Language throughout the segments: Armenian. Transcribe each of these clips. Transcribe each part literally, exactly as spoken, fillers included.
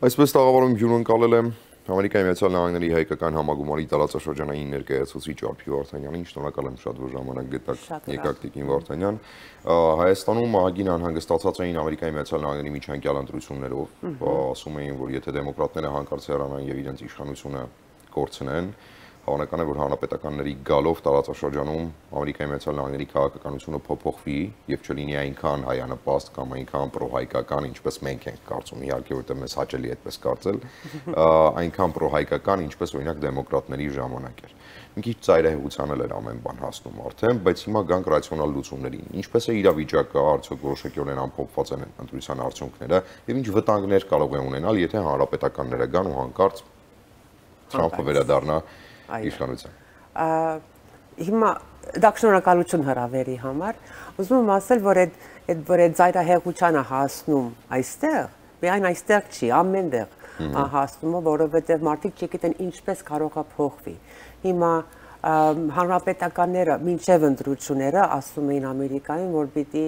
Այսպես տաղավարում հյուրընկալել եմ Ամերիկայի Միացյալ Նահանգների հայկական համագումարի տարածաշրջանային ներկայացուցիչ Արփի Վարդանյանին, շնորհակալ եմ շատ, որ ժամանակ գտաք, եկաք Տիկին Վարդանյան։ Հայաստանում ահագին անհանգստացած էին Ամերիկայի Միացյալ Նահանգների միջանկյալ ընտրություններով, ասում էին, որ եթե դեմոկրատները հանկարծ հեռանան եւ իրենց իշխանությունը կորցնեն, հավանական է, որ հանրապետականների գալով տարածաշրջանում Ամերիկայի Միացյալ Նահանգների քաղաքականությունը փոփոխվի եւ չլինի այնքան հայանպաստ կամ այնքան պրոհայկական, ինչպես մենք ենք կարծում, իհարկե, որտեղ մեզ հաճելի է այդպես կարծել, այնքան պրոհայկական, ինչպես օրինակ դեմոկրատների ժամանակ էր։ Մի քիչ ծայրահեղության էլ էր ամեն բան հասնում արդեն, բայց հիմա գանք ռացիոնալ լուծումներին։ Ինչպես է իրավիճակը, արդյոք որոշակիորեն ամփոփված են ընտրության արդյունքները եւ ինչ վտանգներ կարող է ունենալ, եթե հանրապետականները գան ու հանկարծ Թրամփը վերադառնա իշխանության։ Հիմա դա շնորհակալություն հրավերի համար։ Ուզում եմ ասել, որ այդ որ այդ ծայրահեղությանը հասնում այստեղ, միայն այստեղ չի, ամենտեղ հասնում, որովհետև մարդիկ չգիտեն ինչպես կարող է փոխվի։ Հիմա հանրապետականները մինչև ընտրությունները ասում էին Ամերիկայում, որ պիտի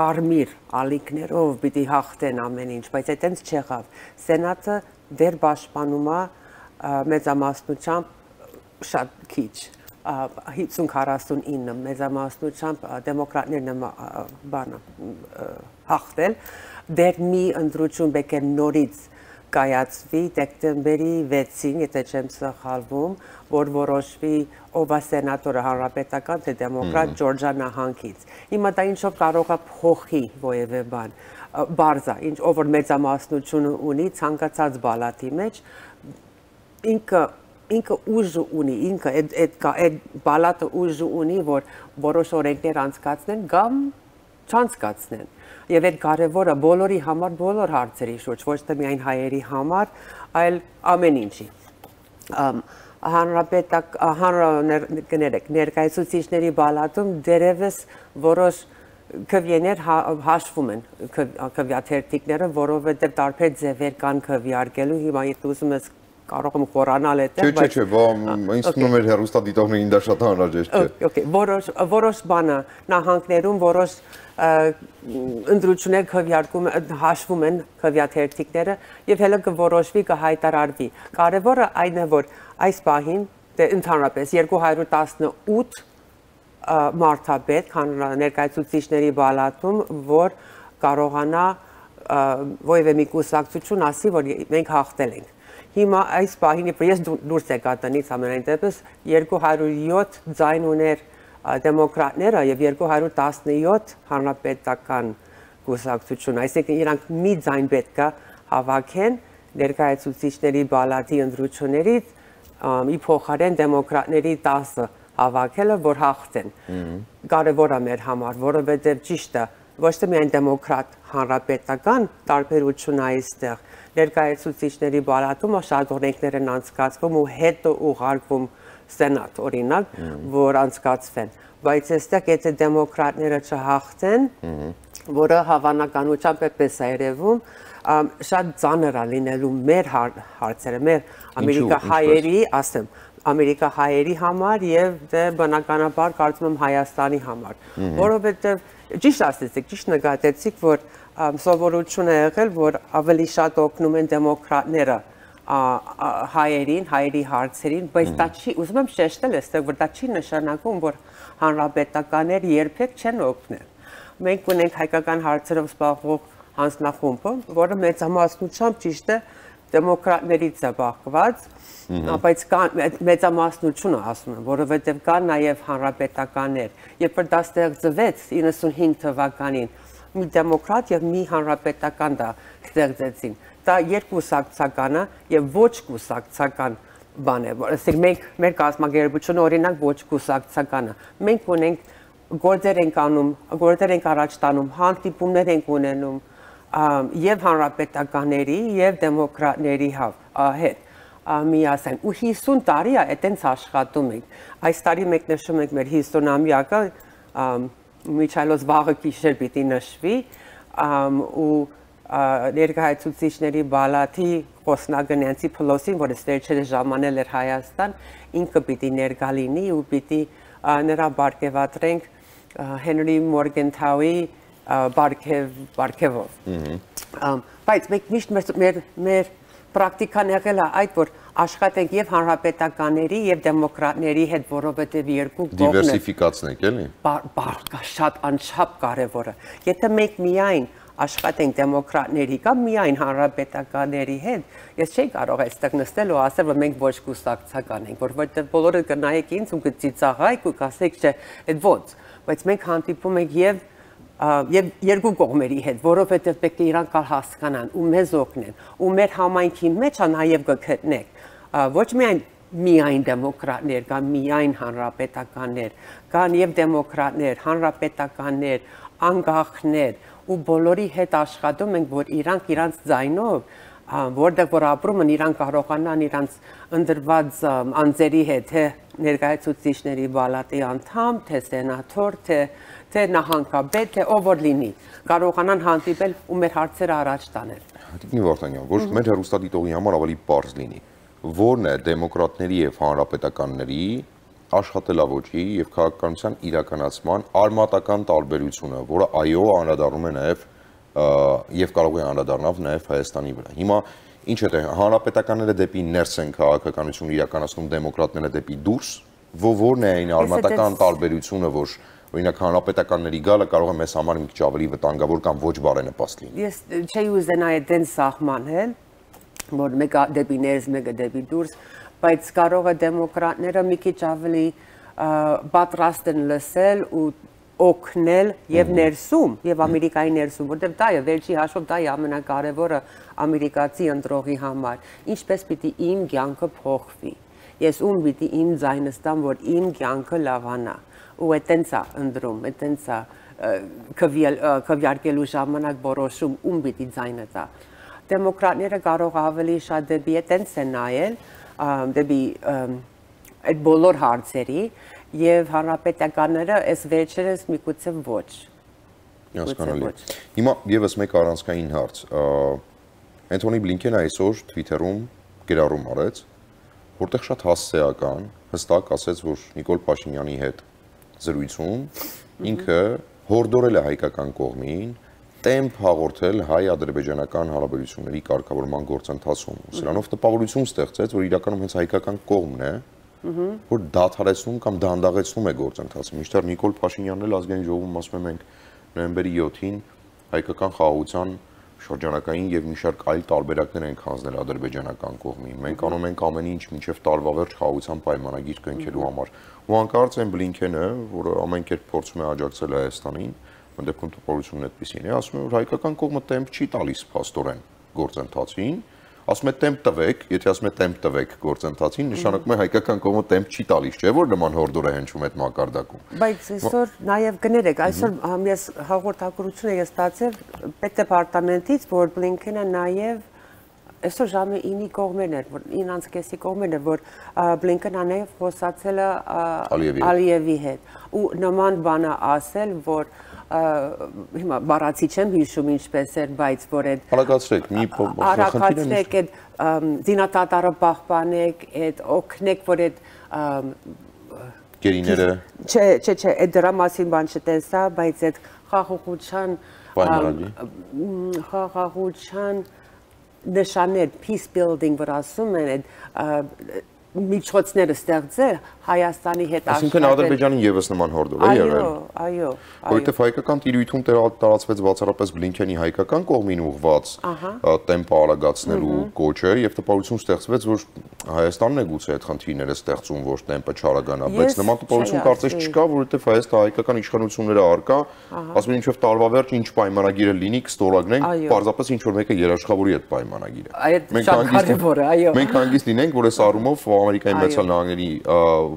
կարմիր ալիքներով պիտի հաղթեն ամեն ինչ, բայց այդտենց չեղավ։ Սենատը դեռ պաշտպանում է մեծամասնությամբ շատ քիչ հինգ քառասունինը մեծամասնությամբ դեմոկրատներն բանը հաղթել դեռ մի ընտրություն պետք է նորից կայացվի դեկտեմբերի վեցին, եթե չեմ սխալվում, որ որոշվի ով է սենատորը հանրապետական թե դեմոկրատ Ջորջիա նահանգից։ Հիմա դա ինչով կարող է փոխի որևէ բան, բարձա, ինչ ով որ մեծամասնություն ունի ցանկացած բալատի մեջ, ինքը ինքը ուժ ունի, ինքը այդ բալատը ուժ ունի, որ որոշ օրենքներ անցկացնեն կամ չանցկացնեն։ Եվ այդ կարևորը բոլորի համար, բոլոր հարցերի շուրջ, ոչ թե միայն հայերի համար, այլ ամեն ինչի։ Հանրապետակ ներկայացուցիչների բալատում դերևս որոշ քվեներ հաշվում են քվեաթերթիկները, որովհետև տարբեր ձևեր կան քվեարկելու, հիմա եթե ուզում ես կարող եմ խորանալ այդտեղ, բայց չէ, չէ, ինձ թվում է հեռուստադիտողներին դա շատ անհրաժեշտ չէ։ Okay, որոշ որոշ բանը նահանգներում որոշ ընտրություններ քվեարկում հաշվում են քվեաթերթիկները եւ հենց կորոշվի կհայտարարվի։ Կարևորը այն է, որ այս պահին ընդհանրապես երկու հարյուր տասնութ մարդաբեդ ներկայացուցիչների բալատում, որ կարողանա որևէ մի կուսակցություն ասի, որ մենք հաղթել ենք։ Հիմա այս պահին ես դուրս եկա տնից ամենայն դեպս երկու հարյուր յոթ ձայն ուներ դեմոկրատները եւ երկու հարյուր տասնյոթ հանրապետական կուսակցություն, այսինքն իրանք մի ձայն պետք է հավաքեն ներկայացուցիչների բալատի ընտրություններից ի փոխարեն դեմոկրատների տասը հավաքելը, որ հաղթեն։ Կարևոր է մեր համար, որովհետեւ ճիշտ է, ոչ թե միայն դեմոկրատ հանրապետական տարբերություն այստեղ ներկայացուցիչների բալատում շատ օրենքներ են անցկացվում ու հետո ուղարկվում սենատ օրինակ, որ անցկացվեն, բայց այստեղ եթե դեմոկրատները չհաղթեն, որը հավանականությամբ էպես է երևում, շատ ծանր է լինելու մեր հարցերը, մեր ամերիկա հայերի, ասեմ, ամերիկա հայերի համար եւ դե բնականաբար կարծում եմ Հայաստանի համար, որովհետեւ ճիշտ ասեցիք, ճիշտ նկատեցիք, որ սովորություն է եղել, որ ավելի շատ օգնում են դեմոկրատները հայերին, հայերի հարցերին, բայց դա չի, ուզում եմ շեշտել այստեղ, որ դա չի նշանակում, որ հանրապետականները երբեք չեն օգնել։ Մենք ունենք հայկական հարցերով զբաղվող հանձնախումբը, որը մեծամասնությամբ ճիշտ է դեմոկրատներից է բաղկված, բայց մեծամասնությունը ասում եմ, որովհետև կան նաև հանրապետականներ, երբ որ դա ստեղծվեց իննսունհինգ թվականին, մի դեմոկրատ եւ մի հանրապետական դա ստեղծեցին։ Դա երկուսակցականը եւ ոչ կուսակցական բան է, ասենք մենք մեր կազմակերպությունը օրինակ ոչ կուսակցականը։ Մենք ունենք գործեր ենք անում, գործեր ենք առաջ տանում, հանդիպումներ ենք ունենում եւ հանրապետականների եւ դեմոկրատների հետ միասին ու հիսուն տարի է այտենց աշխատում ենք։ Այս տարի մենք նշում ենք մեր հիսունամյակը, միջայլոց վաղը գիշեր պիտի նշվի ու ներկայացուցիչների բալատի խոսնակը Նենսի Փելոսին, որը վերջերս ժամանել էր Հայաստան, ինքը պիտի ներկա լինի ու պիտի նրա բարգեւատրենք Հենրի Մորգենթաուի բարգեւով։ Բայց մենք միշտ մեր մեր պրակտիկան եղել է այդ, որ աշխատենք եւ հանրապետականների եւ դեմոկրատների հետ, որովհետեւ երկու կողմը դիվերսիֆիկացնենք, էլի։ Բարձր շատ անչափ կարևոր է։ Եթե մենք միայն աշխատենք դեմոկրատների կամ միայն հանրապետականների հետ, ես չէի կարող այստեղ նստել ու ասել, որ մենք ոչ կուսակցական ենք, որովհետեւ բոլորը կնայեք ինձ ու կծիծաղայք ու կասեք, չէ, այդ ո՞նց, բայց մենք հանդիպում ենք եւ եւ երկու կողմերի հետ, որովհետեւ պետք է իրանք հասկանան ու մեզ օգնեն, ու մեր համայնքի մեջ նաեւ կգտնեք ոչ միայն միայն դեմոկրատներ, կան միայն հանրապետականներ, կան եւ դեմոկրատներ, հանրապետականներ, անկախներ, ու բոլորի հետ աշխատում ենք, որ իրանք իրանց ձայնով, որտեղ որ ապրում են, իրանք կարողանան իրանց ընդրված անձերի հետ, թե ներկայացուցիչների պալատի անդամ, թե սենատոր, թե թե նահանգապետ, թե ով որ լինի, կարողանան հանդիպել ու մեր հարցերը առաջ տանել։ Տիկնի Վարդանյան, որ մեր հեռուստադիտողի համար ավելի պարզ լինի, որն է դեմոկրատների եւ հանրապետականների աշխատելավոճի եւ քաղաքականության իրականացման արմատական տարբերությունը, որը այո անդրադառնում է նաեւ եւ կարող է անդրադառնալ նաեւ Հայաստանի վրա։ Հիմա ինչ է թե հանրապետականները դեպի ներս են քաղաքականություն իրականացնում, դեմոկրատները դեպի դուրս, որն է այն արմատական տարբերությունը, որ օրինակ հանրապետականների գալը կարող է մեզ համար մի քիչ ավելի վտանգավոր կամ ոչ բարենպաստ լինի։ Ես չէի ուզենա այդեն սահմանել, որ մեկը դեպի ներս, մեկը դեպի դուրս, բայց կարող է դեմոկրատները մի քիչ ավելի պատրաստ են լսել ու օգնել եւ ներսում եւ Ամերիկայի ներսում, որտեղ դա է վերջի հաշվով դա է ամենակարևորը ամերիկացի ընտրողի համար, ինչպես պիտի իմ կյանքը փոխվի։ Ես ում պիտի իմ ձայնը ստամ, որ իմ կյանքը լավանա, ու այտենց է ընտրում, այտենց է քվեարկելու ժամանակ որոշում ում պիտի ձայնը տա։ Դեմոկրատները կարող ավելի շատ դեպի այտենց են նայել, դեպի այդ բոլոր հարցերի եւ հանրապետականները այս վերջերս միգուցե ոչ։ Հասկանալի։ Հիմա եւս մեկ առանցքային հարց։ Անթոնի Բլինքենը այսօր Twitter-ում գրառում արեց, որտեղ շատ հասցեական հստակ ասեց, որ Նիկոլ Փաշինյանի հետ զրույցում ինքը հորդորել է հայկական կողմին տեմպ հաղորդել հայ-ադրբեջանական հարաբերությունների կարգավորման գործընթացում։ Սրանով տպավորություն ստեղծեց, որ իրականում հենց հայկական կողմն է, որ դադարեցնում կամ դանդաղեցնում է գործընթացը։ Մինչդեռ Նիկոլ Փաշինյանն էլ ազգային ժողովում ասում է մենք նոյեմբերի յոթին հայկական խաղաղության շրջանակային եւ մի շարք այլ տարբերակներ ենք հանձնել ադրբեջանական կողմին։ Մենք անում ենք ամեն ինչ մինչեւ տարվա վերջ խաղաղության պայմանագիր կնքելու համար։ Ու հանկարծ այն Բլինքենը, որը ամեն կերպ փորձում է աջակցել Հայաստանին, դեպքում տպավորությունն այդպեսին է, ասում է, որ հայկական կողմը տեմպ չի տալիս փաստորեն գործընթացին, ասում է տեմպ տվեք, եթե ասում է տեմպ տվեք գործընթացին, նշանակում է հայկական կողմը տեմպ չի տալիս, չէ՞ որ նման հորդոր է հնչում այդ մակարդակում։ Բայց այսօր նաև կներեք, այսօր ես հաղորդակցություն եմ ստացել պետդեպարտամենտից, որ Բլինքենը նաև այսօր ժամը ինի կողմերն էր, որ ինձ կեսի կողմերն էր, որ Բլինքենը նաև խոսացել է Ալիևի հետ ու նման բանը ասել, որ հիմա բառացի չեմ հիշում ինչպես էր, բայց որ այդ արագացրեք, մի արագացրեք այդ զինատատարը պահպանեք, այդ օգնեք, որ այդ գերիները չէ, չէ, չէ, այդ դրա մասին բան չտեսա, բայց այդ խաղաղության խաղաղության նշաններ, peace building, որ ասում են այդ միջոցները ստեղծել Հայաստանի հետ աշխատել։ Այսինքն Ադրբեջանին եւս նման հորդոր է եղել։ Այո, այո։ Որովհետեւ հայկական տիրույթում տարածվեց բացառապես Բլինքենի հայկական կողմին ուղղված տեմպը արագացնելու կոչը եւ տպավորություն ստեղծվեց, որ Հայաստանն է գուցե այդ խնդիրները ստեղծում, որ տեմպը չարագանա, բայց նման տպավորություն կարծես չկա, որովհետեւ Հայաստան հայկական իշխանությունները արկա, ասում են ինչով տարվա վերջ ինչ պայմանագիրը լինի, կստորագրենք, պարզապես ինչ որ մեկը երաշխավորի այդ պայմանագիրը։ Մենք հանգիստ լինենք, որ այս առումով Ամերիկայի Միացյալ Նահանգների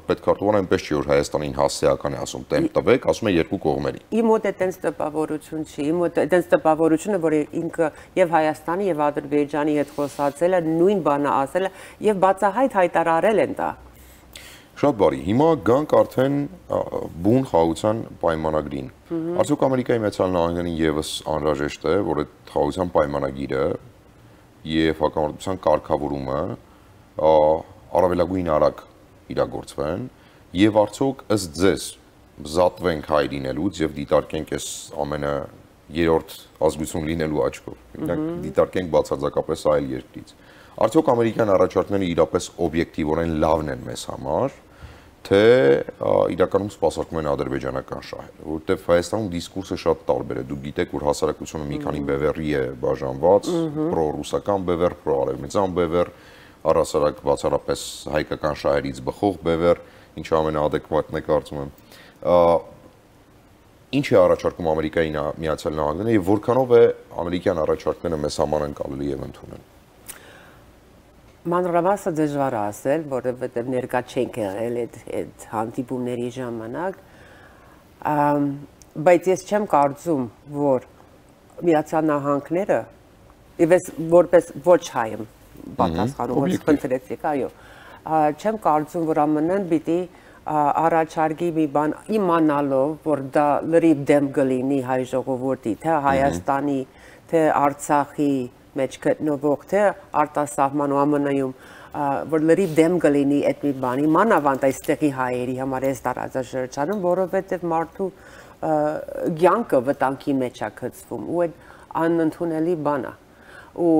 պետքարտուղարը այնպես չի, որ Հայաստանին հասցեական է ասում տեմպ տվեք, ասում է երկու կողմերի։ Իմ մոտ այդպես տպավորություն չի, իմ մոտ այդպես տպավորությունը, որ ինքը եւ Հայաստանի եւ Ադրբեջանի հետ խոսացել է, նույն բանը ասել է եւ բացահայտ հայտարարել են դա։ Շատ բարի, հիմա գանք արդեն բուն խաղաղության պայմանագրին։ Արդյոք Ամերիկայի Միացյալ Նահանգներին եւս անհրաժեշտ է, որ այդ խաղաղության պայմանագիրը եւ հակամարտության կարգավորումը առավելագույն արագ իրագործվեն եւ արդյոք ըստ ձեզ զատվենք հայրինելուց եւ դիտարկենք այս ամենը երրորդ ազգություն լինելու աչքով։ Մենք դիտարկենք բացարձակապես այլ երկրից։ Արդյոք ամերիկյան առաջարկները իրապես օբյեկտիվորեն լավն են մեզ համար, թե իրականում սպասարկում են ադրբեջանական շահերը, որովհետև Հայաստանում դիսկուրսը շատ տարբեր է։ Դուք գիտեք, որ հասարակությունը մի քանի բևեռի է բաժանված, պրոռուսական բևեռ, պրոարևմտյան բևեռ, առհասարակ բացառապես հայկական շահերից բխող բևեռ, ինչը ամենաադեկվատն է կարծում եմ։ Ինչ է առաջարկում Ամերիկայի Միացյալ Նահանգները եւ որքանով է ամերիկյան առաջարկները մեզ համար ընկալելի եւ ընդունել։ Մանրամասը դժվար է ասել, որովհետև ներկա չենք եղել այդ հանդիպումների ժամանակ, բայց ես չեմ կարծում, որ Միացյալ Նահանգները, ես որպես ոչ հայ եմ պատասխանում, որ խնդրեցիք, այո, չեմ կարծում, որ ԱՄՆ-ն պիտի առաջարկի մի բան իմանալով, որ դա լրիվ դեմ կլինի հայ ժողովրդի, թե Հայաստանի, թե Արցախի մեջ գտնվող, թե արտասահման ու ԱՄՆ-ում, որ լրիվ դեմ կլինի այդ մի բանի, մանավանդ այստեղի հայերի համար այս տարածաշրջանում, որովհետև մարդու կյանքը վտանգի մեջ է գցվում ու այդ անընդունելի բան է։ Ու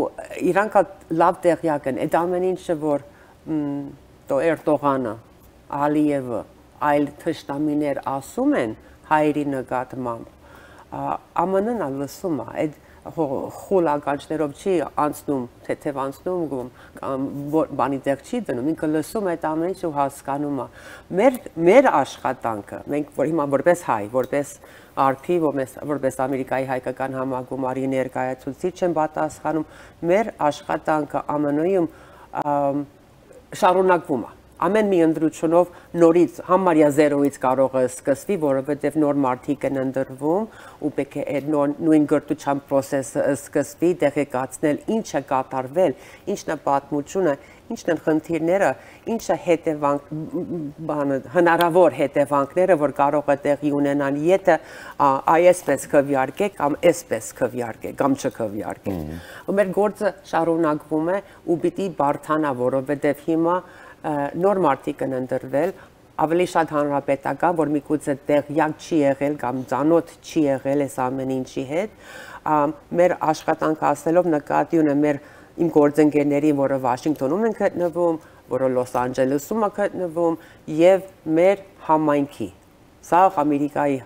իրանք լավ տեղյակ են, այդ ամեն ինչը, որ Էրդողանը, Ալիևը, այլ թշնամիներ ասում են հայերի նկատմամբ, ԱՄՆ-ն լսում է, այդ խուլ ականջներով չի անցնում, թեթև անցնում, բանի տեղ չի դնում, ինքը լսում այդ ամեն ինչ ու հասկանում է։ Մեր աշխատանքը, մենք հիմա որպես հայ, որպես արփի, որպես Ամերիկայի հայկական համագումարի ներկայացուցիչ եմ պատասխանում, մեր աշխատանքը ԱՄՆ-ում շարունակվում է։ Ամեն մի ընտրությունով նորից համարյա զերոյից կարող է սկսվի, որովհետև նոր մարդիկ են ընտրվում ու պետք է այդ նույն գրթության process-ը սկսվի, տեղեկացնել ինչը կատարվել, ինչն է պատմությունը, ինչն են խնդիրները, ինչը հետևանք, հնարավոր հետևանքները, որ կարող է տեղի ունենան, եթե այսպես քվեարկեք կամ այսպես քվեարկեք, կամ չքվեարկեք։ Ու մեր գործը շարունակվում է ու պիտի բարդանա, որովհետև հիմա նոր մարդիկ են ընտրվել, ավելի շատ հանրապետական, որ միգուցե տեղյակ չի եղել կամ ծանոթ չի եղել այս ամեն ինչի հետ, մեր աշխատանքը ասելով նկատի ունեմ մեր իմ գործընկերների, որը Վաշինգտոնում են գտնվում, որը Լոս Անջելեսում է գտնվում եւ մեր համայնքի։ Սա Ամերիկայի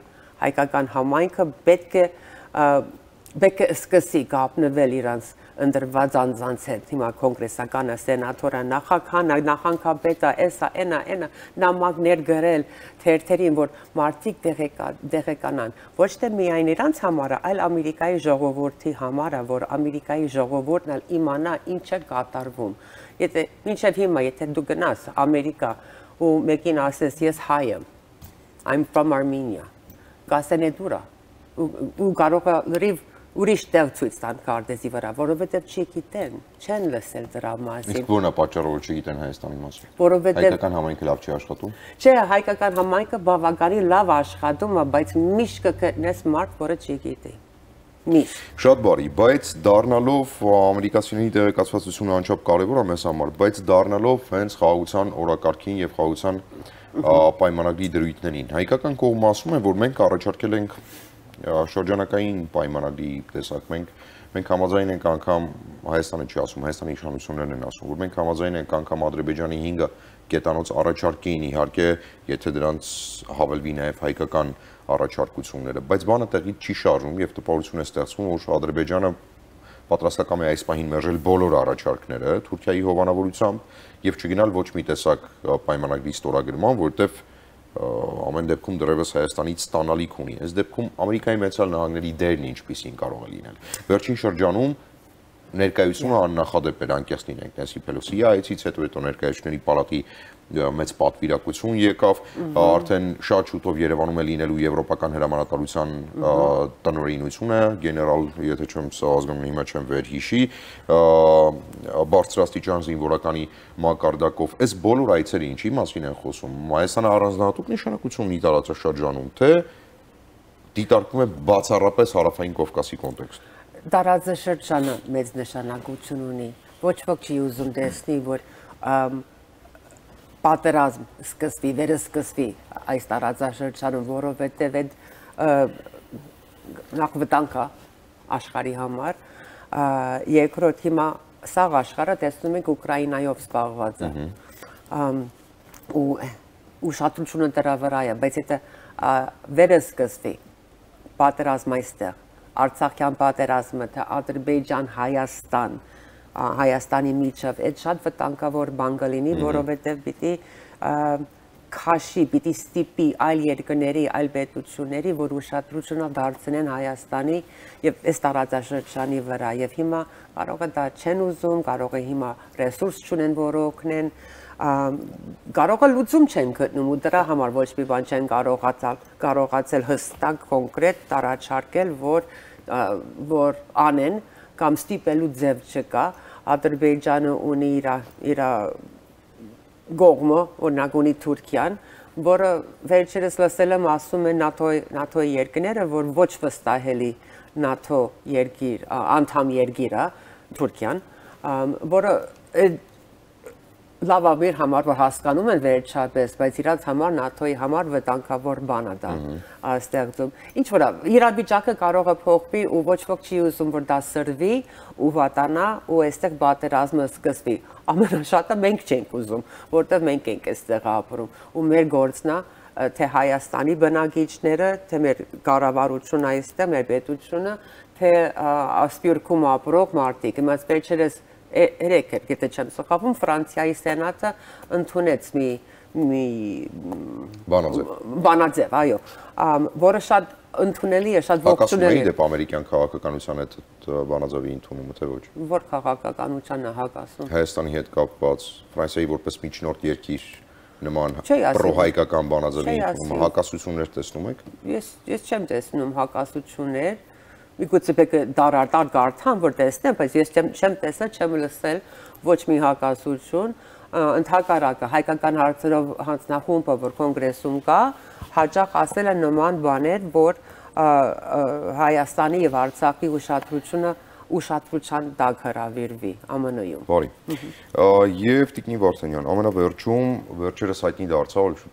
հայկական համայնքը պետք է պետք է սկսի կապնվել իրանց ընտրված անձանց հետ, հիմա կոնգրեսականը, սենատորը, նախագահը, նախագահապետը, էսա, էնա, էնա, նամակներ գրել թերթերին, որ մարդիկ տեղեկանան, ոչ թե միայն իրանց համարը, այլ Ամերիկայի ժողովրդի համարը, որ Ամերիկայի ժողովուրդն էլ իմանա ինչ է կատարվում։ Եթե մինչև հիմա, եթե դու գնաս Ամերիկա ու մեկին ասես ես հայ եմ, I'm from Armenia, կասեն է դուրա, ու կարող է լրիվ ուրիշ տեղ ցույց տան քարտեզի վրա, որովհետև չգիտեն, չեն լսել դրա մասին։ Իսկ ո՞րն է պատճառը, որ չգիտեն Հայաստանի մասին։ Որովհետև հայկական համայնքը լավ չի աշխատում։ Չէ, հայկական համայնքը բավականին լավ աշխատում է, բայց միշտ կգտնես մարդ, որը չգիտի։ Միշտ։ Շատ բարի, բայց դառնալով ամերիկացիների տեղեկացվածությունը անչափ կարևոր է մեզ համար, բայց դառնալով հենց խաղաղության օրակարգին եւ խաղաղության պայմանագրի դրույթներին, հայկական կողմը ասում է, որ մենք առաջարկել ենք շրջանակային պայմանագրի տեսակ, մենք մենք համաձայն ենք անգամ Հայաստանը չի ասում, Հայաստանի իշխանություններն են ասում, որ մենք համաձայն ենք անգամ Ադրբեջանի հինգ կետանոց առաջարկին, իհարկե, եթե դրանց հավելվի նաև հայկական առաջարկությունները, բայց բանը տեղից չի շարժում եւ տպավորություն է ստեղծվում, որ Ադրբեջանը պատրաստական է այս պահին մերժել բոլոր առաջարկները Թուրքիայի հովանավորությամբ եւ չգնալ ոչ մի տեսակ պայմանագրի ստորագրման, որտեղ ամեն դեպքում դեռևս Հայաստանից ստանալիք ունի։ Այս դեպքում Ամերիկայի Միացյալ Նահանգների դերն ինչպիսին կարող է լինել։ Վերջին շրջանում ներկայությունը աննախադեպ էր, անկեղծ լինենք, Նենսի Փելոսիի այցից հետո հետո ներկայացուցիչների պալատի մեծ պատվիրակություն եկավ, արդեն շատ շուտով Երևանում է լինելու Եվրոպական հրամանատարության տնօրինությունը, գեներալ, եթե չեմ սա ազգանունի մեջ եմ վերհիշի, բարձրաստիճան զինվորականի մակարդակով, այս բոլոր այցերը ինչի մասին են խոսում, Հայաստանը առանձնահատուկ նշանակություն ունի տարածաշրջանում, թե դիտարկվում է բացառապես Հարավային Կովկասի կոնտեքստ։ Տարածաշրջանը մեծ նշանակություն ունի, ոչ ոք չի ուզում տեսնի, որ պատերազմ սկսվի, վերսկսվի այս տարածաշրջանում, որովհետև այդ նախ վտանգ է աշխարհի համար, երկրորդ հիմա սաղ աշխարհը տեսնում ենք Ուկրաինայով զբաղված է ու ուշադրությունը դրա վրա է, բայց դա վերսկսվի պատերազմը այստեղ, Արցախյան պատերազմը, թե Ադրբեջան, Հայաստան, Հայաստանի միջև, այդ շատ վտանգավոր բան կլինի, որովհետև պիտի քաշի, պիտի ստիպի այլ երկրների, այլ պետությունների, որ ուշադրությունը դարձնեն Հայաստանի եւ այս տարածաշրջանի վրա եւ հիմա կարող է դա չեն ուզում, կարող է հիմա ռեսուրս չունեն, որ օգնեն, կարող է լուծում չեն գտնում ու դրա համար ոչ մի բան չեն կարողացել, կարողացել հստակ կոնկրետ տարաչարկել, որ որ անեն կամ ստիպելու ձև չկա, Ադրբեջանը ունի իր իր գողմը, օրինակ ունի Թուրքիան, որը վերջերս լսել եմ ասում են ՆԱՏՕ-ի երկրները, որ ոչ վստահելի ՆԱՏՕ երկիր, անդամ երկիր է Թուրքիան, որը լավաբեր համար որ հասկանում են վերջապես, բայց իրաց համար ՆԱՏՕ-ի համար վտանգավոր բան է դա ստեղծում։ Ինչ որ իրավիճակը կարող է փոխվի ու ոչ ոք չի ուզում որ դա սրվի ու վատանա ու այստեղ պատերազմը սկսվի։ Ամենաշատը մենք չենք ուզում, որտեղ մենք ենք այստեղ ապրում ու մեր գործն է թե Հայաստանի բնակիչները, թե մեր կառավարությունը այստեղ, մեր պետությունը, թե Սփյուռքում ապրող մարդիկ։ Իմաց վերջերս երեք էր, եթե չեմ սխալվում, Ֆրանսիայի սենատը ընդունեց մի մի բանաձև, բանաձև, այո, որը շատ ընդունելի է, շատ ողջունելի է։ Հակասում է դեպ ամերիկյան քաղաքականության այդ բանաձևի ընդունումը, թե ոչ։ Որ քաղաքականության է հակասում։ Հայաստանի հետ կապված, Ֆրանսիայի որպես միջնորդ երկիր նման պրոհայկական բանաձևի ընդունումը հակասություններ տեսնում եք։ Ես ես չեմ տեսնում հակասություններ։ Միգուցե պետք է դարարտար կարդամ, որ տեսնեմ, բայց ես չեմ տեսել, չեմ լսել ոչ մի հակասություն, ընդհակառակը հայկական հարցերով հանձնախումբը, որ կոնգրեսում կա, հաճախ ասել է նման բաներ, որ Հայաստանի եւ Արցախի ուշադրությունը ուշադրության տակ հրավիրվի ԱՄՆ-ում։ Բարի։ Եվ Տիկնի Վարդանյան, ամենավերջում վերջերս հայտնի դարձավ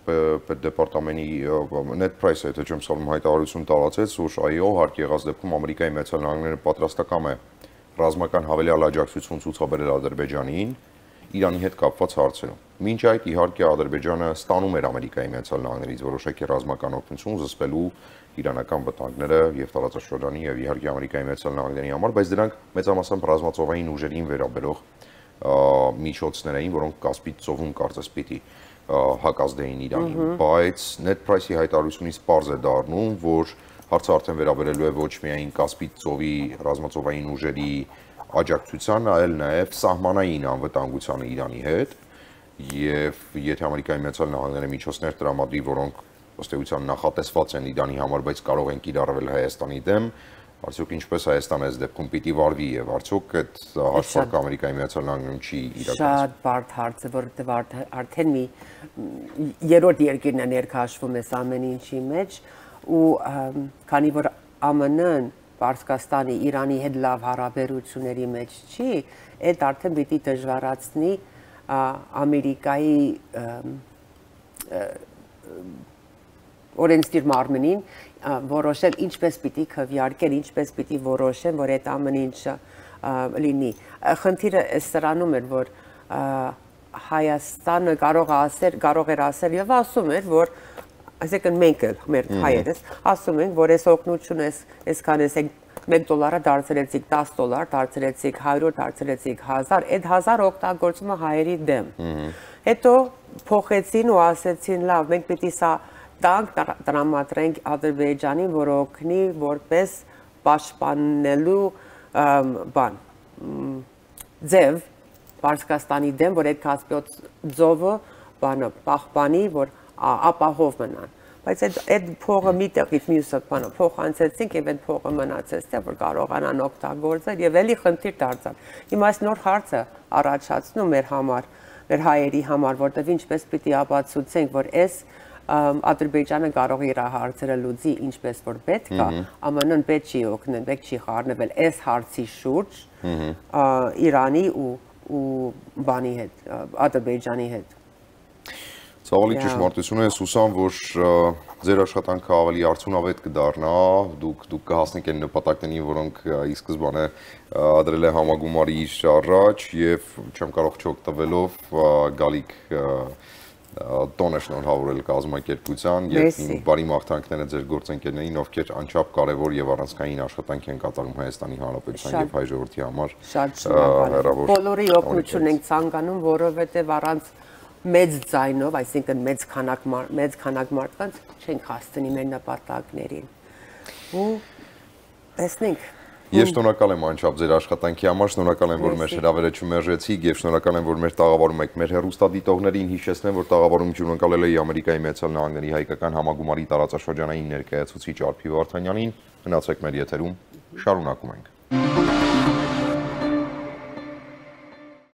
պետդեպարտամենտի Net Price-ը, եթե չեմ սխալվում, հայտարարություն տարածեց, որ այո, հարկ եղած դեպքում Ամերիկայի Միացյալ Նահանգները պատրաստական է ռազմական հավելյալ աջակցություն ցուցաբերել Ադրբեջանին Իրանի հետ կապված հարցերում։ Մինչ այդ իհարկե Ադրբեջանը ստանում էր Ամերիկայի Միացյալ Նահանգներից որոշակի ռազմական օգնություն զսպելու իրանական վտանգները եւ տարածաշրջանի եւ իհարկե Ամերիկայի Միացյալ Նահանգների համար, բայց դրանք մեծամասամբ ռազմածովային ուժերին վերաբերող միջոցներ էին, որոնք Կասպից ծովում կարծես պիտի հակազդեին Իրանին, բայց Net Price-ի հայտարարությունից պարզ է դառնում, որ հարցը արդեն վերաբերելու է ոչ միայն Կասպից ծովի ռազմածովային ուժերի աջակցությանը, այլ նաեւ սահմանային անվտանգությանը Իրանի հետ, եւ եթե Ամերիկայի Միացյալ Նահանգները միջոցներ տրամադրի, որոնք ըստ էության նախատեսված են Իրանի համար, բայց կարող են կիրառվել Հայաստանի դեմ, արդյոք ինչպես Հայաստանը այս դեպքում պիտի վարվի եւ արդյոք այդ հաշվարկը Ամերիկայի Միացյալ Նահանգներում չի իրականացվում։ Շատ բարդ հարց է, որովհետեւ արդեն մի երրորդ երկիրն է ներքաշվում այս ամեն ինչի մեջ ու քանի որ ԱՄՆ-ն Պարսկաստանի Իրանի հետ լավ հարաբերությունների մեջ չի, այդ արդեն պիտի դժվարացնի Ամերիկայի օրենսդիր մարմնին որոշել ինչպես պիտի քվեարկեն, ինչպես պիտի որոշեն, որ այդ ամեն ինչը լինի։ Խնդիրը սրանում էր, որ Հայաստանը կարող ասեր, կարող էր ասել եւ ասում էր, որ այսինքն մենք էլ մեր հայերս ասում ենք, որ այս օգնությունը այսքան էս մեկ դոլարը դարձրեցիք դես դոլար, դարձրեցիք հարյուր, դարձրեցիք հազար, այդ հազար օգտագործում է հայերի դեմ։ Հետո փոխեցին ու ասեցին, լավ, մենք պիտի սա տանք տրամադրենք Ադրբեջանին, որ օգնի որպես պաշտպանելու բան ձև Պարսկաստանի դեմ, որ այդ Կասպիոս ծովը բանը պահպանի, որ ապահով մնան։ Բայց այդ փողը մի տեղից մյուսը բանը փոխանցեցինք եւ այդ փողը մնացեց, թե որ կարողանան օգտագործել եւ էլի խնդիր դարձավ։ Հիմա այս նոր հարցը առաջացնում մեր համար, մեր հայերի համար, որտեղ ինչպես պիտի ապացուցենք, որ այս Ադրբեջանը կարող է իր հարցերը լուծի ինչպես որ պետք է, ԱՄՆ-ն պետք չի օգնել, պետք չի խառնվել այս հարցի շուրջ Իրանի ու ու բանի հետ, Ադրբեջանի հետ։ Ցավալի ճշմարտություն է, Սուսան, որ ձեր աշխատանքը ավելի արդյունավետ կդառնա, դուք դուք կհասնեք այն նպատակներին, որոնք ի սկզբանե դրել է համագումարի առաջ եւ չեմ կարող չօգտվելով գալիք տոնը շնորհավորել կազմակերպության եւ իմ բարի մաղթանքները ձեր գործընկերներին, ովքեր անչափ կարեւոր եւ առանցքային աշխատանք են կատարում Հայաստանի Հանրապետության եւ հայ ժողովրդի համար։ Շատ շնորհակալ։ Բոլորի օգնություն ենք ցանկանում, որովհետեւ առանց մեծ ձայնով, այսինքն մեծ քանակ մեծ քանակ մարդկանց չենք հասցնի մեր նպատակներին։ Ու տեսնենք։ Ես շնորհակալ եմ անչափ ձեր աշխատանքի համար, շնորհակալ եմ, որ մեր հրավերը չմերժեցիք եւ շնորհակալ եմ, որ մեր տաղավարում եք մեր հեռուստադիտողներին հիշեցնեմ, որ տաղավարում հյուրընկալել էի Ամերիկայի Միացյալ Նահանգների հայկական համագումարի տարածաշրջանային ներկայացուցիչ Արփի Վարդանյանին։ Մնացեք մեր եթերում, շարունակում ենք։